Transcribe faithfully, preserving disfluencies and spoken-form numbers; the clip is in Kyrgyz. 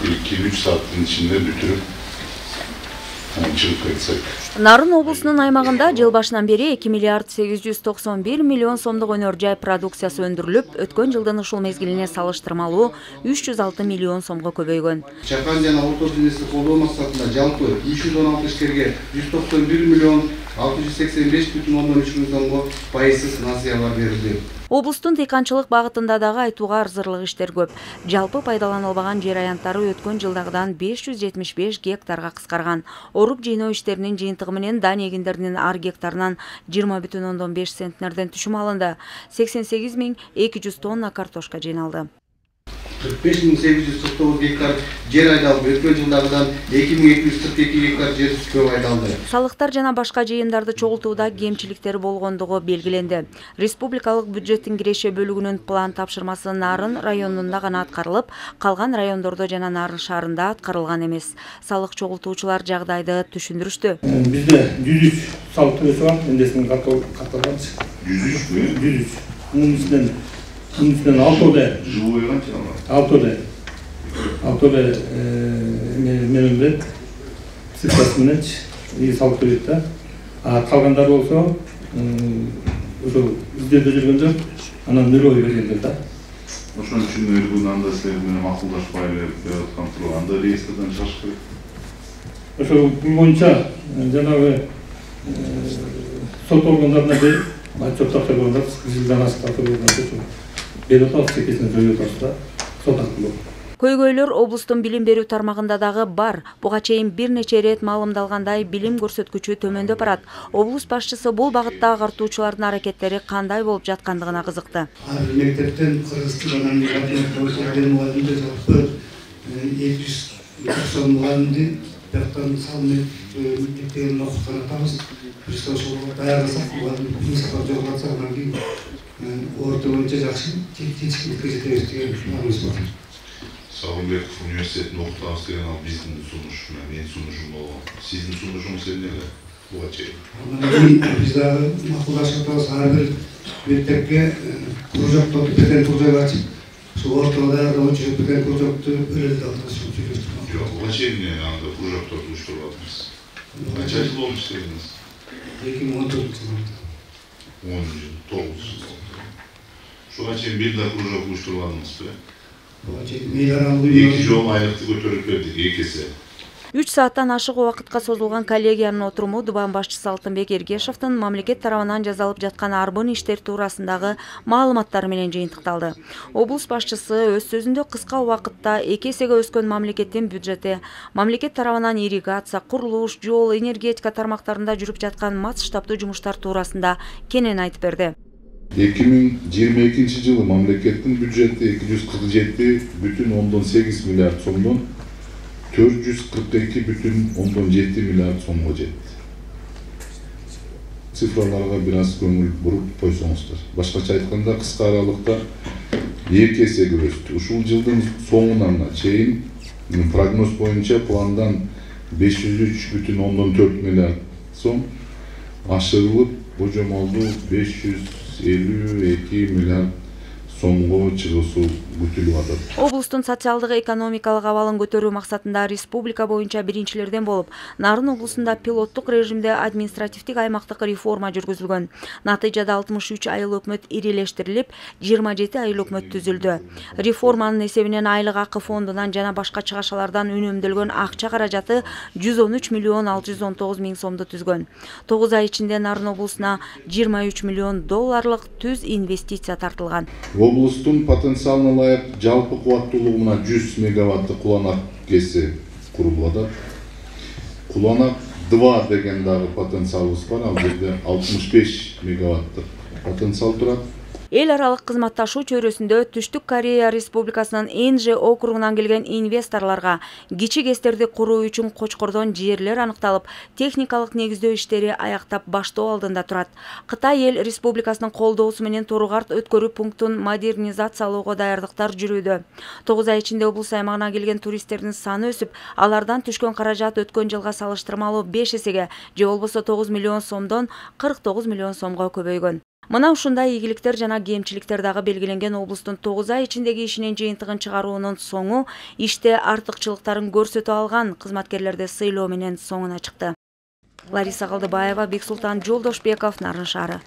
iki üç saatin içinde бүтүрүп чыгып кетсек. Нарын облусунун аймагында жыл башынан бери эки миллиард сегиз жүз токсон бир миллион сомдук өнөр жай продукциясы өндүрүлүп, өткөн жылдын ушул мезгилине салыштырмалуу үч жүз алты миллион сомго көбөйгөн. Чакан жана орто бизнести колдоо максатында жалпы үч жүз он алты ишкерге жүз токсон бир миллион алты жүз сексен беш бүтүн ондон үч миң сомго пайызсыз насыялар берилди. Облустун дыйканчылык багытында дагы айтууга арзырлык иштер көп. Жалпы пайдаланылбаган жер аянттары өткөн жылдагыдан беш жүз жетимиш беш гектарга кыскарган. Орук жыйноо иштеринин жыйынтыгы менен дан эгиндеринин ар гектарынан жыйырма бүтүн ондон беш центнерден түшүм алынды. сексен сегиз миң эки жүз тонна картошка жыйналды. кырк беш миң сегиз жүз кырк тогуз гектар жер айдалды. Өткөн жылдагыдан эки миң эки жүз кырк эки гектар жер көп айдалды. Салыктар жана башка жыйымдарды чогултууда кемчиликтер болгондугу белгиленди. Республикалык бюджеттин киреше бөлүгүнүн план тапшырмасы Нарын районунда гана аткарылып, калган райондордо жана Нарын шаарында аткарылган эмес. Салык чогултуучулар жагдайды түшүндүрүштү. Бизде жүз үч салык төлөөсү бар, эндесин катталган. жүз үчпү? жүз үч. Мунун ичинен мунун ичинен алтоодо жылуу канча алат? Алтоодо. Алтоодо менен бет цифрасы менен салык төлөйт да. А калгандар болсо ошо издөөдө жүргөндөр анан нөлөй бергендер да. Ошон үчүн өргүн анда силер менен макулдашпай берип аткан турганда реестрден чыгыш керек. Ошо бул боюнча жанагы сот органдарына берип, отчет тапшырганда жылдан ашык тапшырганда берип атабыз, секесин жойуп атабыз да, сот аркылуу. Көйгөйлөр облустун билим берүү тармагында дагы бар. Буга чейин бир нече ирет маалымдалгандай билим көрсөткүчү төмөндөп барат. Облус башчысы бул багытта агартуучулардын аракеттери кандай болуп жаткандыгына кызыкты. Ар бир мектептен кыргыз тилинен мугалимдер жалпы эки жүз токсон мугалимди жактан салынып мектептерин окуткан атабыз. Биз ошого даярдасак, мугалим сапар жоготса, анан кийин орто боюнча жакшы жетишкиндикке жетебиз деген планыбыз бар. Сагынбеков университетин окутабыз деген ал биздин сунуш, менин сунушум болгон. Сиздин сунушуңуз эмне? Буга чейин. Биз дагы макулдашып атабыз, ар бир мектепке кружокту бетен кружок ачып, ошо ортого даярдоочу бетен кружокту бөлөп атабыз. Жок, буга чейин анда кружокторду уюштуруп атабыз. Канча жыл болуп иштедиңиз? эки миң он төртүнчү жылы. он жыл, тогуз жыл. Ушуга чейин бир да кружок уюштурбадыңызбы? эки жолу айлыкты көтөрүп бердик, эки эсе. үч сааттан ашык убакытка созулган коллегиянын отуруму Дубан башчысы Алтынбек Эргешевдин мамлекет тарабынан жазалып жаткан арбын иштер туурасындагы маалыматтары менен жыйынтыкталды. Облус башчысы өз сөзүндө кыска убакытта эки эсеге өскөн мамлекеттин бюджети, мамлекет тарабынан ирригация, курулуш, жол, энергетика тармактарында жүрүп жаткан масштабдуу жумуштар туурасында кенен айтып берди. эки миң жыйырма экинчи жылы мамлекеттин бюджети эки жүз кырк жети бүтүн ондон сегиз миллиард сомдон төрт жүз кырк эки бүтүн ондон жети миллиард сомго жетти. Цифраларга бир аз көңүл буруп койсоңуздар. Башкача айтканда, кыска аралыкта эки эсеге өстү. Ушул жылдын соңуна чейин прогноз боюнча пландан беш жүз үч бүтүн ондон төрт миллиард сом ашырылып, божомолду беш жүз элүү эки миллиард сомго чыгуусу күтүлүп атат. Облустун социалдык экономикалык абалын көтөрүү максатында республика боюнча биринчилерден болуп, Нарын облусунда пилоттук режимде административдик аймактык реформа жүргүзүлгөн. Натыйжада алтымыш үч айыл өкмөт ирилештирилип, жыйырма жети айыл өкмөт түзүлдү. Реформанын эсебинен айлык акы фондунан жана башка чыгашалардан үнөмдөлгөн акча каражаты жүз он үч миллион алты жүз он тогуз миң сомду түзгөн. тогуз ай ичинде Нарын облусуна жыйырма үч миллион долларлык түз инвестиция тартылган. Облустун потенциалына ылайык жалпы кубаттуулугуна жүз мегаваттык куланак кеси курулуп атат. Куланак два деген дагы потенциалыбыз бар. Ал жерде алтымыш беш мегаваттык потенциал турат. Эл аралык кызматташуу чөйрөсүндө Түштүк Корея Республикасынын Энже округунан келген инвесторлорго кичи ГЭСтерди куруу үчүн Кочкордон жерлер аныкталып, техникалык негиздөө иштери аяктап баштоо алдында турат. Кытай Эл Республикасынын колдоосу менен Торугарт өткөрүү пунктун модернизациялоого даярдыктар жүрүүдө. тогуз ай ичинде облус аймагына келген туристтердин саны өсүп, алардан түшкөн каражат өткөн жылга салыштырмалуу беш эсеге, же болбосо тогуз миллион сомдон кырк тогуз миллион сомго көбөйгөн. Мына ушундай ийгиликтер жана кемчиликтер дагы белгиленген облустун тогуз ай ичиндеги ишинин жыйынтыгын чыгаруунун соңу иште артыкчылыктарын көрсөтө алган кызматкерлерди сыйлоо менен соңуна чыкты. Лариса Калдыбаева, Бексултан Жолдошбеков, Нарын шаары.